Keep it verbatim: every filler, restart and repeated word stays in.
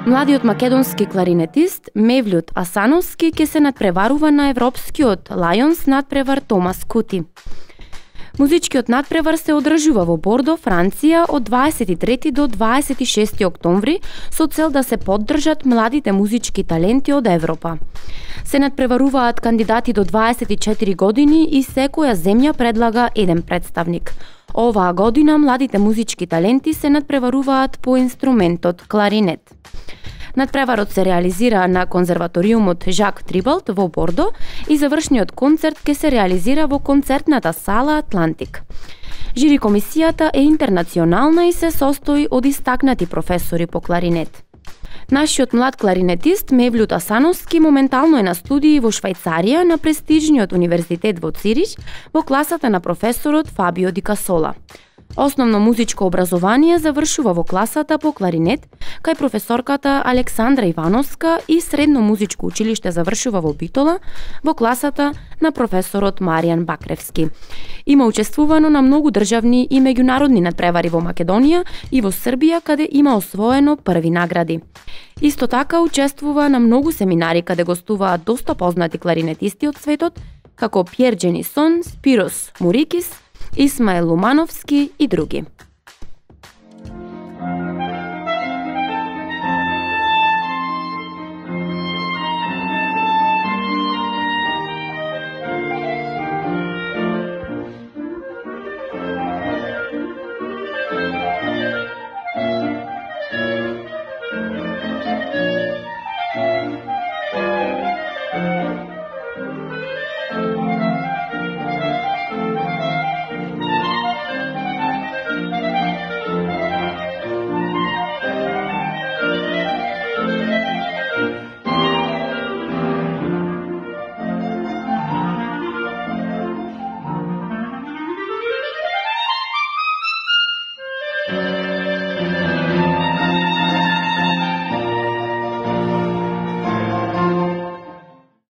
Младиот македонски кларинетист Мевљут Асановски ќе се надпреварува на европскиот Лајонс надпревар Томас Кути. Музичкиот надпревар се одржува во Бордо, Франција од дваесет и трети до дваесет и шести октомври со цел да се поддржат младите музички таленти од Европа. Се надпреваруваат кандидати до дваесет и четири години и секоја земја предлага еден представник. Оваа година младите музички таленти се надпреваруваат по инструментот кларинет. Надпреварот се реализира на конзерваториумот Жак Трибалт во Бордо и завршниот концерт ќе се реализира во концертната сала Атлантик. Жири комисијата е интернационална и се состои од истакнати професори по кларинет. Нашиот млад кларинетист Мевљут Асановски моментално е на студии во Швајцарија на престижниот универзитет во Цирих во класата на професорот Фабио Ди Касола. Основно музичко образование завршува во класата по кларинет кај професорката Александра Ивановска и средно музичко училиште завршува во Битола во класата на професорот Маријан Бакревски. Има учествувано на многу државни и меѓународни надпревари во Македонија и во Србија каде има освоено први награди. Исто така учествува на многу семинари каде гостуваат доста познати кларинетисти од светот како Пјер Дженисон, Спирос Мурикис, Исмаел Лумановски и други.